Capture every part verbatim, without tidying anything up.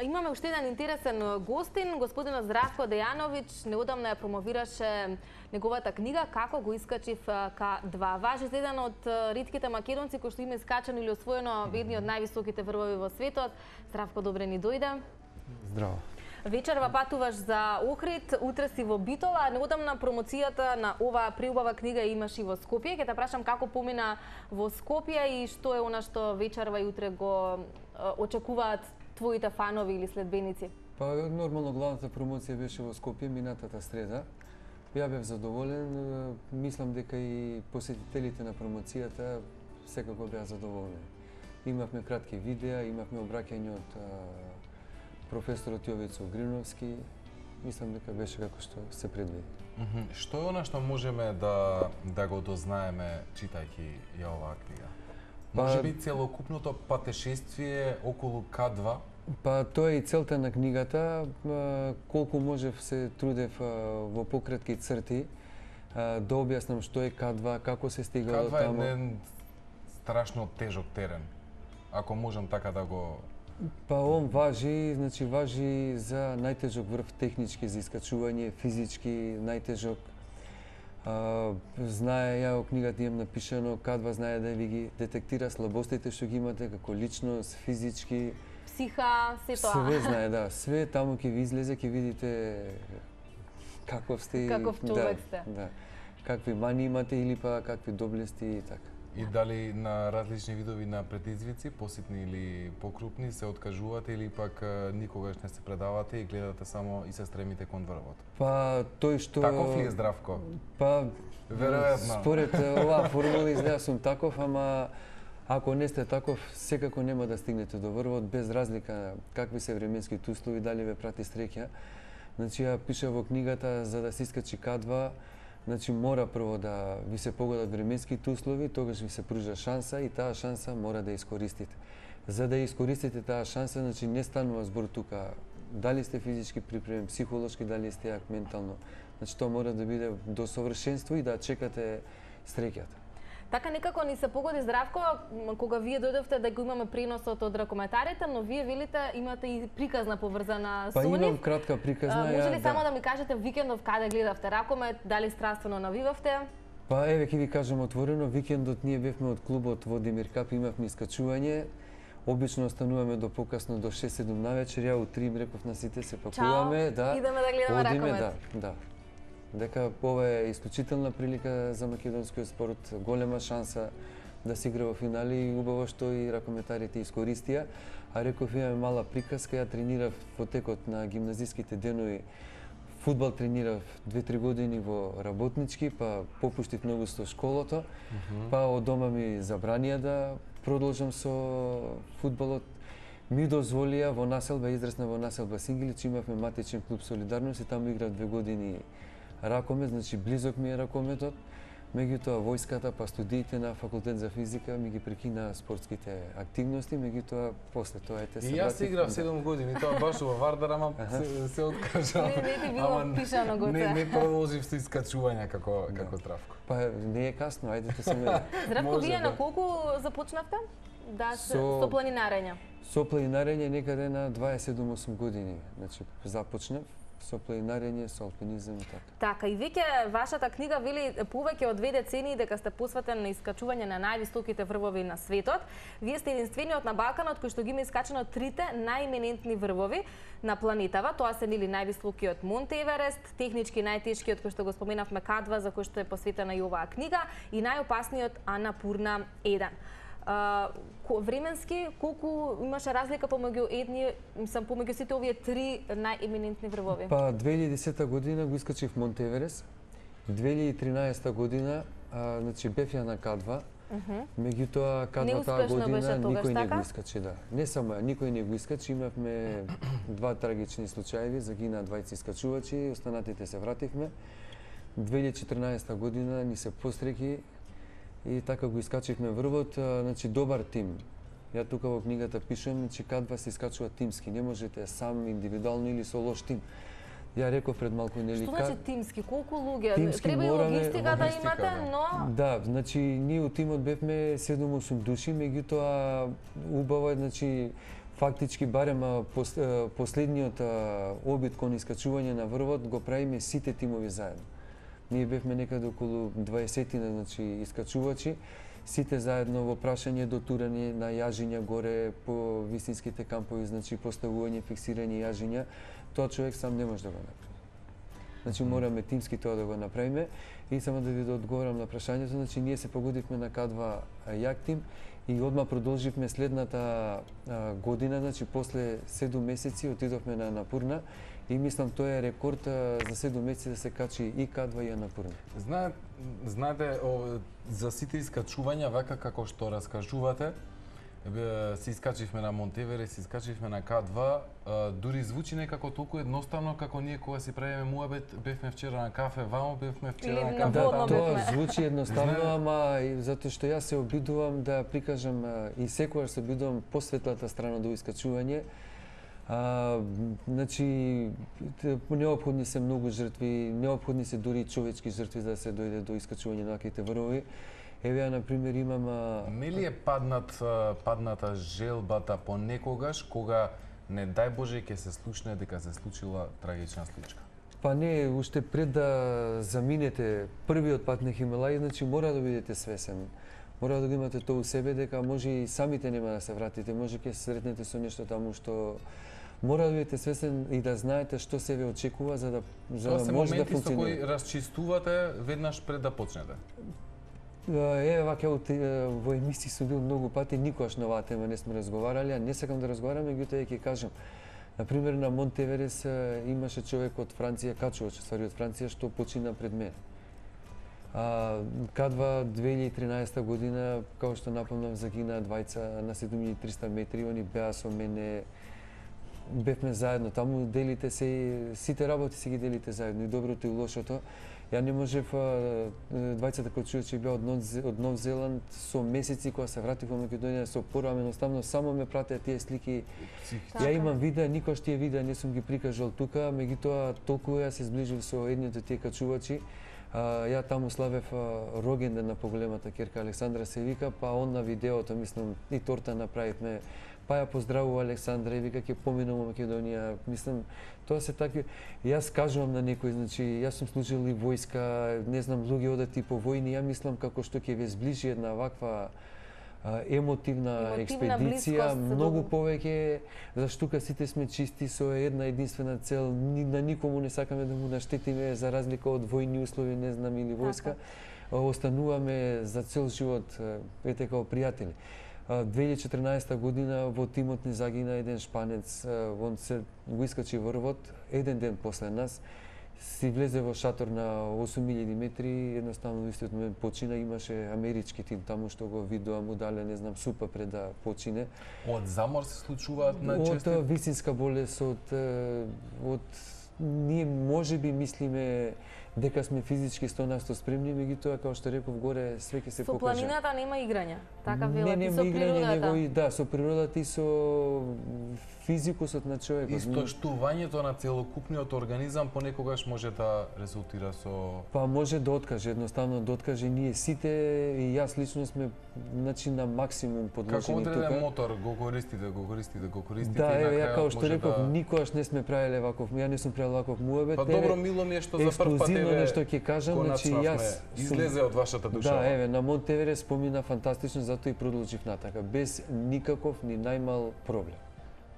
Имаме уште еден интересен гостин, господинот Здравко Дејановиќ. Неодамна ја промовираше неговата книга Како го искачив ка два. Важи за еден од ретките македонци кој што има искачано или освоено едни од највисоките врвови во светот. Здравко, добре ни дојде. Здраво. Вечерва патуваш за Охрид, утре си во Битола. Неодамна промоцијата на оваа преубава книга имаш и во Скопје. Ќе те прашам како помина во Скопје и што е она што вечерва и утре го очекуваат твоите фанови или следбеници? Па нормално главната промоција беше во Скопје минатата среда. Ја бев задоволен, мислам дека и посетителите на промоцијата секако беа задоволени. Имавме кратки видеа, имавме обраќање од професорот Јовицо Гриновски. Мислам дека беше како што се предвиди. Mm -hmm. Што е она што можеме да да го дознаеме читајќи ја оваа книга? Па, може би целокупното патешествие околу ка два? Па тоа е и целта на книгата, колку можев се трудев во пократки црти да објаснам што е ка два, како се стига до таму. ка два е еден страшно тежок терен. Ако можам така да го Па он важи, значи важи за најтежок врв технички за искачување, физички најтежок. А, знае, ја во книгата имам напишано, ка два знае да ви ги детектира слабостите што ги имате како личност, физички, психа, се тоа. Све знае, да, све таму ќе ви излезе, ќе видите каков сте, каков човек да, сте. Да. Какви мани имате или па какви доблести и така. И дали на различни видови на предизвици, поситни или покрупни, се откажувате или пак никогаш не се предавате и гледате само и се стремите кон врвот? Па тој што Таков ли е Здравко? Па веројатно. Според оваа формула изгледа сум таков, ама ако не сте таков, секако нема да стигнете до врвот без разлика какви се временските услови, дали ве прати среќа. Значи ја пиша во книгата за да се искачи ка два. Значи мора прво да ви се погодат временските услови, тогаш ви се пружа шанса и таа шанса мора да ја искористите. За да ја искористите таа шанса, значи не станува збор тука дали сте физички припремен, психолошки, дали сте јак ментално. Значи тоа мора да биде до совршенство и да чекате среќата. Така некако ни се погоди Здравко, кога вие дојдовте да го имаме преносот од ракометарите, но вие велите имате и приказна поврзана со нив. Па имам нив. кратка приказна. А, може ли ја, само да. да ми кажете викендов каде гледавте ракомет, дали страствено навивавте? Па еве ќе ви кажам отворено, викендот ние бевме од клубот во Демир Кап, имавме искачување. Обично остануваме до покасно до шест-седум навечер, ја у три им реков на сите се пакуваме, да. Идеме да гледаме одиме, ракомет. Да, да. Дека ова е исклучителна прилика за македонскиот спорт, голема шанса да се игра во финали и убаво што и ракометарите искористија. А реков имаме мала приказка, ја тренирав во текот на гимназиските денови. Фудбал тренирав две-три години во работнички, па попуштив многу со школото, mm -hmm. па од дома ми забранија да продолжам со фудбалот. Ми дозволија во населба, израсна во населба Сингилич, имавме матичен клуб Солидарност и таму играв две години ракомет, значи близок ми е ракометот. Меѓутоа војската, па студиите на факултет за физика ми ги прекина спортските активности, меѓутоа после тоа ете се и јас се играв седум години, тоа баш во Вардар, ама се, се откажав. Не, не ти било пишано гоце. Не, не продолжив со искачување како да. како Здравко. Па не е касно, ајдете се ме. Здравко, вие да. на колку започнавте? Да, со, со планинарење. Со планинарење некаде на дваесет и седум години, значи започнав со планинарење, со алпинизам и така. Така, и веќе вашата книга вели повеќе од две децении дека сте посветен на искачување на највисоките врвови на светот. Вие сте единствениот на Балканот кој што ги има искачано трите најименентни врвови на планетава. Тоа се нели највисокиот Монт Еверест, технички најтешкиот кој што го споменавме ка два, за кој што е посветена и оваа книга, и најопасниот Анапурна еден. Uh, временски, колку имаше разлика помеѓу едни, мислам, помеѓу сите овие три најеминентни врвови? Па две илјади и десета година го искачив Монт Еверест, две илјади и тринаесета година, а, значи бев ја на ка два, uh -huh. меѓутоа ка два таа година никој не го искачи, да. Не само ја, никој не го искачи, имавме два трагични случаи, загина двајца искачувачи, останатите се вративме. две илјади и четрнаесета година ни се посреќи и така го искачивме врвот, значи добар тим. Ја тука во книгата пишам, че ка два се искачува тимски, не можете сам индивидуално или со лош тим. Ја реков пред малку нели Што значи тимски? Колку луѓе? Тимски Треба и мораме, логистика да имате, но да, значи ние у тимот бевме седум-осум души, меѓутоа убаво е, значи фактички барем пос, последниот обид кон искачување на врвот го правиме сите тимови заедно. Ние бевме некаде околу дваесет, значи искачувачи, сите заедно во прашање, дотурање на јажиња горе по вистинските кампови, значи поставување, фиксирање јажиња, тоа човек сам не може да го направи. Значи мораме тимски тоа да го направиме. И само да ви да одговорам на прашањето, значи ние се погодивме на К два јактим и одма продолживме следната а, година, значи после седум месеци отидовме на Анапурна и мислам тоа е рекорд а, за седум месеци да се качи и К два и Анапурна. Знаете, знаете о, за сите искачувања, вака како што раскажувате, се искачивме на Монтевере, се искачивме на К два, а, дури звучи некако толку едноставно како ние кога си правиме муабет, бевме вчера на кафе вамо, бевме вчера на кафе таму. таму. Да, тоа звучи едноставно, ама затоа што јас се обидувам да прикажам и секогаш се обидувам посветлата страна до искачување. А, значи, неопходни се многу жртви, неопходни се дури човечки жртви за да се дојде до искачување на ваквите врвови. Еве ја, например, имам... Нели е паднат, падната желбата понекогаш, кога, не дај Боже, ќе се случне дека се случила трагична случка? Па не, уште пред да заминете првиот пат на Хималај, значи мора да бидете свесен. Мора да го имате тоа у себе, дека може и самите нема да се вратите, може ќе се сретнете со нешто таму што... Мора да бидете свесен и да знаете што се ве очекува за да, за да може да функционира. Тоа се моменти со кои расчистувате веднаш пред да почнете? Е, вака во емисии сум бил многу пати, никогаш на оваа тема не сме разговарали, а не сакам да разговарам, меѓутоа ќе кажам. Например, на Монт Еверест имаше човек од Франција, качувач ствари од Франција, што почина пред мене. А, К два две илјади и тринаесета година, како што напомнав, загинаа двајца на седум илјади и триста метри, они беа со мене, бевме заедно, таму делите се, сите работи се ги делите заедно, и доброто и лошото. Ја не можев, двајцата качувачи беа од Нов, од Нов Зеланд со месеци кога се вратив во Македонија со порам, едноставно само ме пратеа тие слики. Ја имам видеа, никош тие видеа не сум ги прикажал тука, меѓутоа толку ја се зближив со едниот од тие качувачи. А, ја таму славев рогенден на поголемата ќерка Александра се вика, па он на видеото, мислам, и торта направивме. Па ја поздравува Александра и вика ќе поминам во Македонија. Мислам, тоа се такви. Јас кажувам на некој, значи јас сум служил и војска, не знам, луѓе одат и по војни, ја мислам како што ќе ве зближи една ваква а, емотивна, емотивна експедиција, многу повеќе, зашто тука сите сме чисти со една единствена цел, ни, на никому не сакаме да му наштетиме за разлика од војни услови, не знам, или војска. Остануваме за цел живот, ете, као пријатели. две илјади и четрнаесета година во тимот ни загина еден шпанец, он се го искачи врвот, еден ден после нас, си влезе во шатор на осум илјади метри, едноставно истиот момент почина, имаше амерички тим таму што го видоа, му дале, не знам, супа пред да почине. Од замор се случуваат најчесто? Од вистинска болест, од, од ние можеби мислиме дека сме физички сто на сто спремни, меѓутоа, како што реков горе, све ќе се покаже. Со планината нема играња, така велат, не, и со природата. Него и да, со природата и со физикусот на човекот. Истоштувањето на целокупниот организам понекогаш може да резултира со... Па може да откаже, едноставно да откаже. Ние сите, и јас лично сме, значи, на максимум подложени тука. Како одреден мотор, го користите, го користите, го користите да, и на крајот како што реков, да... никогаш не сме правеле ваков, ја не сум правил ваков муабет. Па добро, мило ми е што за прв пат еве нешто ќе кажам, значи јас излезе од вашата душа. Да, еве, на Монт Еверест спомина фантастично, затоа и продолжив натака, без никаков ни најмал проблем.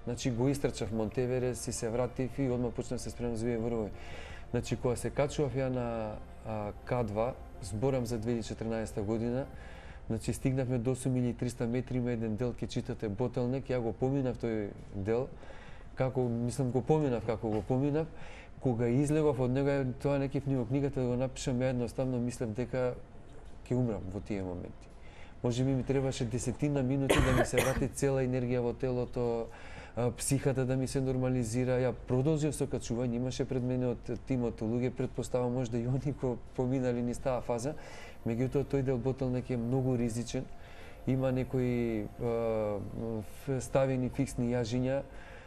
Значи го истрчав Монт Еверест и се вратив и одма почнав се спремам за овие врвови. Значи кога се качував ја на а, К два, зборам за две илјади и четрнаесета година, значи стигнавме до осум илјади и триста метри, има еден дел ќе читате Ботелнек, ја го поминав тој дел, како мислам го поминав како го поминав. Кога излегов од него, тоа не кеф ни во книгата да го напишам, ја едноставно мислев дека ќе умрам во тие моменти. Може би ми требаше десетина минути да ми се врати цела енергија во телото, психата да ми се нормализира. Ја продолжив со качување, имаше пред мене од тимот луѓе, предпоставам можда и они кои поминали низ таа фаза, меѓутоа тој дел Ботелнек е многу ризичен. Има некои ставени фиксни јажиња,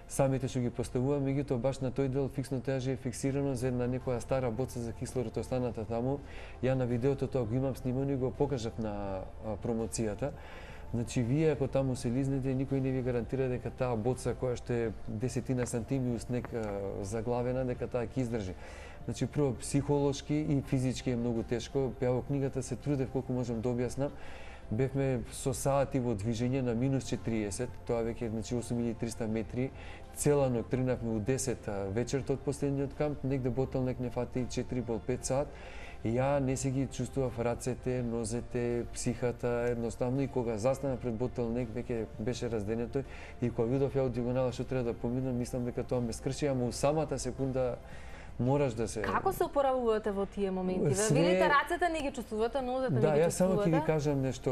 самите што ги поставува, меѓутоа баш на тој дел фиксното јаже е фиксирано за една некоја стара боца за кислород останата таму. Ја на видеото тоа го имам снимано и го покажав на промоцијата. Значи, вие ако таму се лизнете, никој не ви гарантира дека таа боца која што е десетина сантими у снег заглавена, дека таа ќе издржи. Значи, прво, психолошки и физички е многу тешко. Ја во книгата се трудев колку можам да објаснам. Бевме со сати во движење на минус четириесет, тоа веќе значи осум илјади и триста метри. Цела ноќ тренавме у десет вечерта од последниот камп, негде ботолнек не фати четири пол пет сат. Ја не се ги чувствував рацете, нозете, психата, едноставно и кога застана пред ботолнек веќе беше разденето и кога видов ја од диагонала што треба да поминам, мислам дека тоа ме скрши, ама у самата секунда мораш да се... Како се опоравувате во тие моменти? Ве Све... видите рацете, не ги чувствувате, нозете не да, ги чувствувате? Да, јас само ќе ви кажам нешто,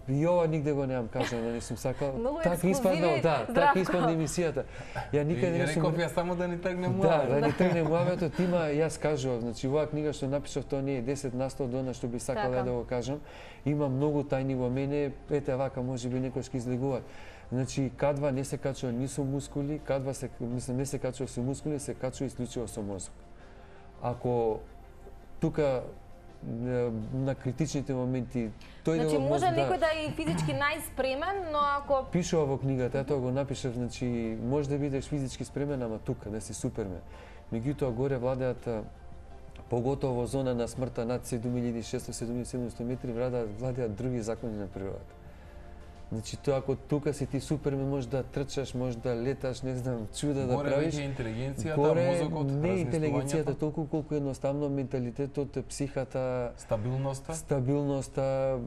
и ова нигде го немам кажано, не сум сакал. Така испадна, да, така испадна емисијата. Ја никаде не сум... Реков ја само да ни тргне муавето. Да, да ни тргне муавето, тима јас кажував, значи оваа книга што напишав, тоа не е десет на сто од она што би сакал ја да го кажам. Има многу тајни во мене, ете вака можеби некој ќе излегуваат. Значи, кадва не се качува ни со мускули, кадва се, мислам, не се качува со мускули, се качува исклучиво со мозок. Ако тука на критичните моменти тој значи, да може да, некој да е физички најспремен, но ако пишува во книгата, тоа го напишав, значи може да бидеш физички спремен, ама тука да си супермен. Меѓутоа горе владеат поготово во зона на смртта над седум илјади и шесто до седум илјади и седумсто метри владеат владеат други закони на природата. Значи тоа ако тука си ти супермен, можеш да трчаш, можеш да леташ, не знам, чуда да горе правиш. Горе веќе интелигенцијата, горе, мозокот, не интелигенцијата толку колку едноставно менталитетот, психата, стабилноста, стабилноста,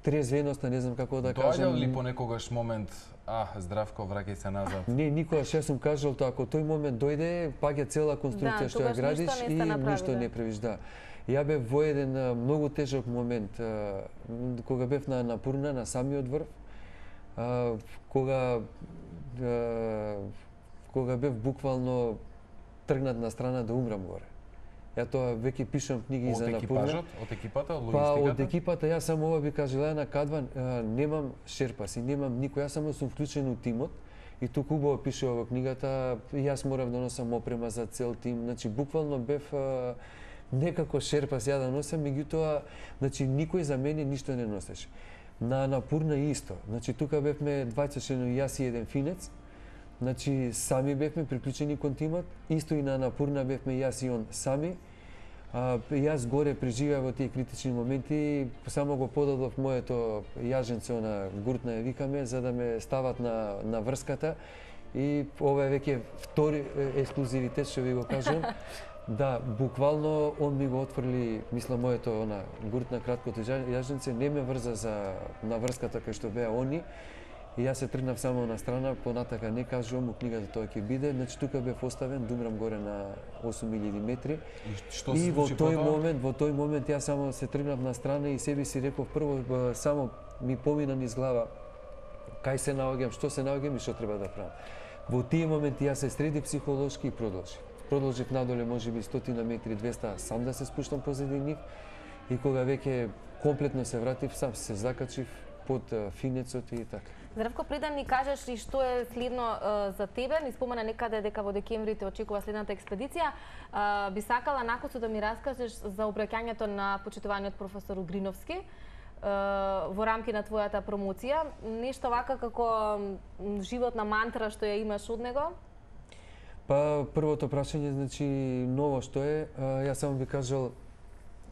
трезвеноста, не знам како да кажам. Доаѓа ли понекогаш момент, а, Здравко, враќај се назад? Не, никогаш јас сум кажал тоа, ако тој момент дојде, паѓа цела конструкција да, што ја градиш и ништо да. не правиш, да. Ја бев во еден многу тежок момент, кога бев на Напурна, на самиот врв, кога кога бев буквално тргнат на страна да умрам горе. Ја тоа веќе пишам книги за Напурна. Од екипажот, од екипата, од логистиката? Па, од екипата, јас само ова би кажала на Кадва, немам шерпаси, немам никој, јас само сум вклучен у тимот. И тука убаво пишува во книгата, јас морав да носам опрема за цел тим, значи буквално бев некако шерпас ја да носам, меѓутоа, значи никој за мене ништо не носеше. На Напурна исто. Значи тука бевме двајца членови, јас и еден финец. Значи сами бевме приклучени кон тимот, исто и на Напурна бевме јас и он сами. А, јас горе преживеав во тие критични моменти, само го подадов моето јаженце, она гуртна ја викаме, за да ме стават на, на врската. И ова е веќе втори ексклузивитет, што ви го кажам. Да, буквално он ми го отфрли, мисла, моето она гуртна краткото јаженце, не ме врза за на врската кај што беа они. И јас се тргнав само на страна, понатака не кажувам, у книгата тоа ќе биде, значи тука бев оставен, думрам горе на осум илјади метри. И, што и во тој потоа? момент, во тој момент јас само се тргнав на страна и себе си реков прво само ми помина низ глава кај се наоѓам, што се наоѓам и што треба да правам. Во тие моменти јас се среди психолошки и продолжив. Продолжив надоле можеби стотина метри, двеста, сам да се спуштам позади нив и кога веќе комплетно се вратив, сам се закачив под финецот и така. Здравко, пред да ни кажеш и што е следно uh, за тебе, ни спомена некаде дека во декември те очекува следната експедиција, uh, би сакала накусо да ми раскажеш за обраќањето на почитуваниот професор Угриновски uh, во рамки на твојата промоција. Нешто вака како животна мантра што ја имаш од него? Па, првото прашање, значи, ново што е, uh, јас само би кажал,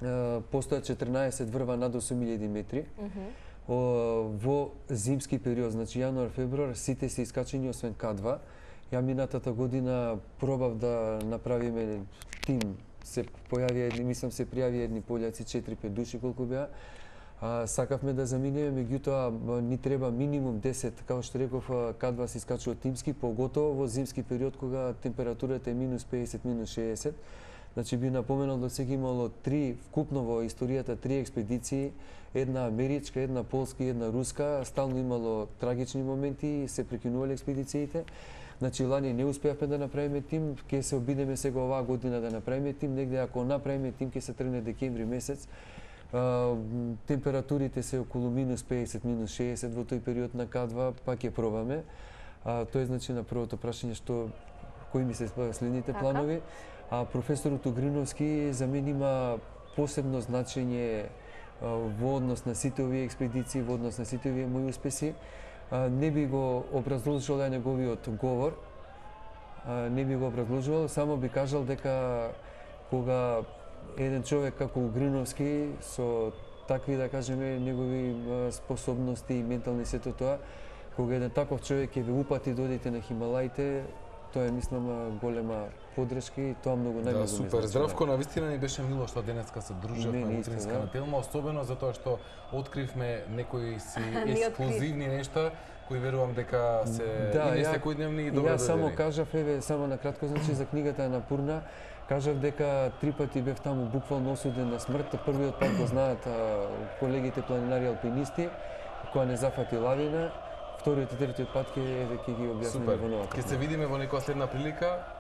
uh, постојат четрнаесет врва над осум илјади метри. Uh -huh. Во зимски период, значи јануар, февруар, сите се искачени освен К два. Ја минатата година пробав да направиме тим. Се појави едни, мислам се пријави едни пољаци, четири-пет души колку беа. А, сакавме да заминеме, меѓутоа ни треба минимум десет, како што реков, К два се искачува тимски, поготово во зимски период кога температурата е минус педесет, минус шеесет. Значи би напоменал да сега имало три, вкупно во историјата три експедиции, една америчка, една полска и една руска, стално имало трагични моменти и се прекинувале експедициите. Значи лани не успеавме да направиме тим, ќе се обидеме сега оваа година да направиме тим, негде ако направиме тим ќе се тргне декември месец. А, температурите се околу минус педесет, минус шеесет во тој период на К два, па ќе пробаме. А, тоа е значи на првото прашање што кои ми се следните така планови. А професорот Угриновски за мен има посебно значење во однос на сите овие експедиции, во однос на сите овие мои успеси. Не би го образложил ја неговиот говор, не би го образложувал, само би кажал дека кога еден човек како Угриновски со такви, да кажеме, негови способности и ментални сето тоа, кога еден таков човек ќе ве упати да одите на Хималаите, тоа е, мислам, голема подршка и тоа многу најмногу. Да, супер. Здравко, навистина ни беше мило што денеска се дружевме во Утринска да. на Телма, особено затоа што откривме некои си ексклузивни нешта кои верувам дека се да, и не ја, секојдневни и добро Ја само доверени. кажав, еве, само на кратко, значи за книгата на Пурна, кажав дека три пати бев таму буквално осуден на смрт. Првиот пат го знаат а, колегите планинари алпинисти, која не зафати лавина. Вториот и третиот пат ќе ќе ги објасниме во новата. Супер. Ќе се видиме во некоја следна прилика.